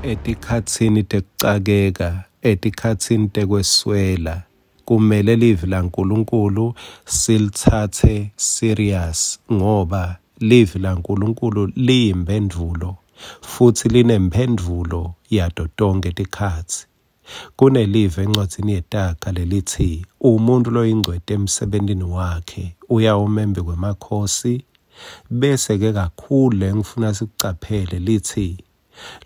Etikhatsini tekucakeka, etikhatsini tekweswela, kumele livi laNkulunkulu silitsatse serious ngoba livi laNkulunkulu liyimphendvulo futsi linemphendvulo yato tonkhe tikhatsi. Kunelivi encwadzini yeTaga lelitsi, Umuntfu loyingcweti emsebentini wakhe uyawuma embikwemakhosi, bese-ke kakhulu lengifuna sikucaphele litsi,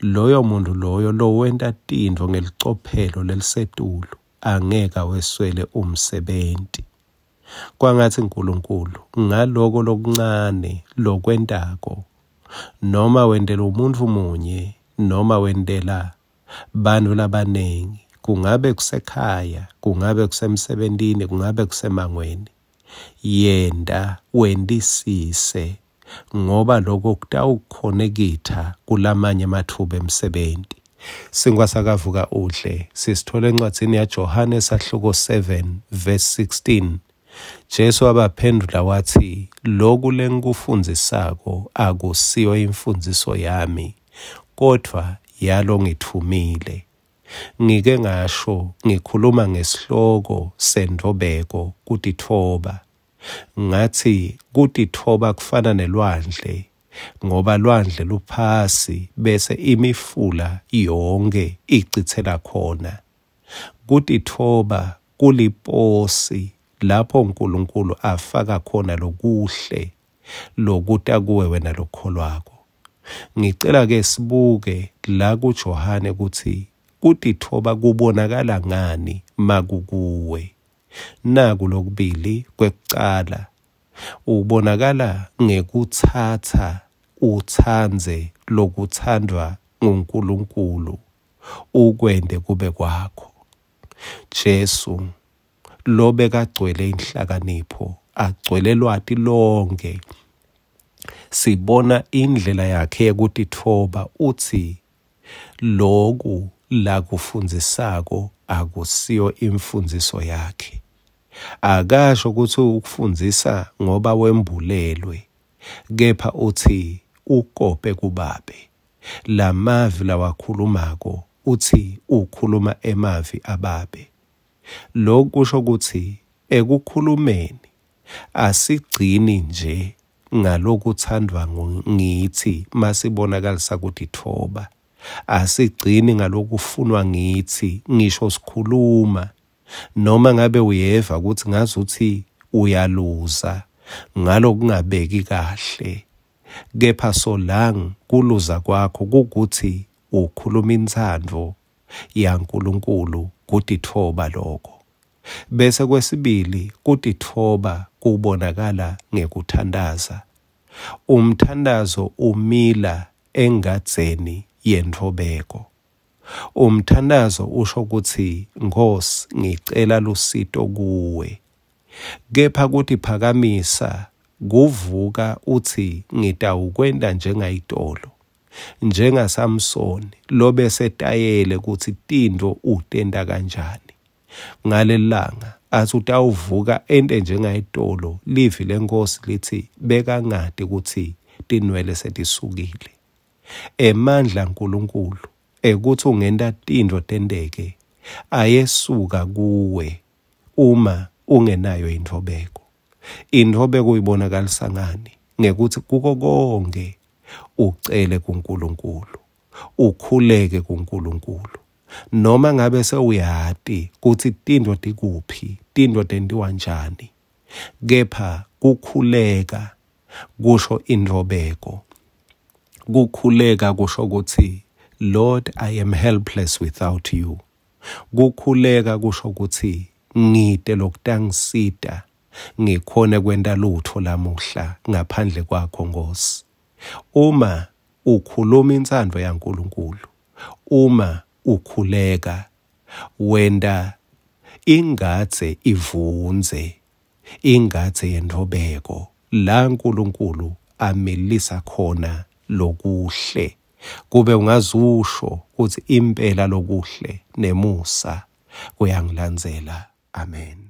Loyo muntfu loyo lowenta tintfo ngelicophelo lelisetulu angeke aweswele umsebenti. Kwangatsi Nkulunkulu ngaloko lokuncane lokwentako, noma wentela umuntfu munye noma wentela Bantfu labanengi, kungabe kusekhaya, kungabe kusemsebentini, kungabe kusemangweni, yenta wentisise ngoba loko kutawukhonekitha kulamanye ematfuba emsebenti. Sinkwa sakavuka udle sisithola encwadzini yaJohane sahluko 7 verse 16. Jesu wabaphendvula watsi, Loku lengikufundzisako akusiyo imfundziso yami, kodvwa yalongitfumile. Ngike ngasho ngikhuluma ngesihloko sentfobeko, kutitfoba. Ngatsi kutitfoba kufana nelwandle ngoba lwandle luphasi bese imifula yonkhe icitsela khona. Kutitfoba kuliposi lapho Nkulunkulu afaka khona lokuhle lokuta kuwe wena lokholwako. Ngicela ke sibuke la kuJohane kutsi kutitfoba kubonakala ngani makukuwe. Naku lokubili kwekucala ubonakala ngekutsatsa utsandze lokutsandvwa nguNkulunkulu ukwente kube kwakho. Jesu lobekagcwele inhlakanipho, agcwele lwati lonke. Sibona indlela yakhe yekutitfoba utsi loku lakufundzisako akusiyo imfundziso yakhe. Akasho kutsi ukufundzisa ngoba wembulelwe, kepha utsi ukope kubabe. Lamavi lawakhulumako utsi ukhuluma emavi ababe. Loku kusho kutsi ekukhulumeni asigcini nje ngalokuthandwa ngitsi masibonakalisa kutitfoba. Asigcini ngalokufunwa ngitsi ngisho sikhuluma noma ngabe uyeva kutsi ngazuthi uyaluza ngalokungabeki kahle kepha solang kuluza kwakho kukuthi ukhuluma intsandvo yaNkulunkulu kutitfoba loko. Bese kwesibili kutitfoba kubonakala ngekuthandaza. Umthandazo umila engadzeni yentfobeko. Umthandazo usho kutsi Nkhosi ngicela lusito kuwe. Kepha kutiphakamisa kuvuka utsi ngitawukwenta njengayitolo. NjengaSamsoni lobesetayele kutsi tintfo utenta kanjani. Ngalelilanga atsi utawuvuka ente njengayitolo, livi leNkhosi litsi bekangati kutsi tinwele setisukile. Emandla aNkulunkulu ekutsi ungenta tintfo tenteke ayesuka kuwe uma ungenayo intfobeko. Intfobeko uyibonakalisa ngani? Ngekutsi kuko konkhe ucele kuNkulunkulu, ukhuleke kuNkulunkulu. Noma ngabe sewuyati kutsi tintfo tikuphi, tintfo tentiwa njani, kepha kukhuleka kusho intfobeko. Kukhuleka kusho kutsi Lord, I am helpless without you. Kukhuleka kusho kutsi ngite lokutangisita ngikhone kwenta lutfo lamuhla ngaphandle kwakho Nkhosi. Uma ukhuluma intsandvo yaNkulunkulu, uma ukhuleka wenta ingadze ivundze, ingadze yentfobeko la Nkulunkulu amilisa khona lokuhle. Kube ungazusho kutsi impela lokuhle nemusa kuyangilandzela. Amen.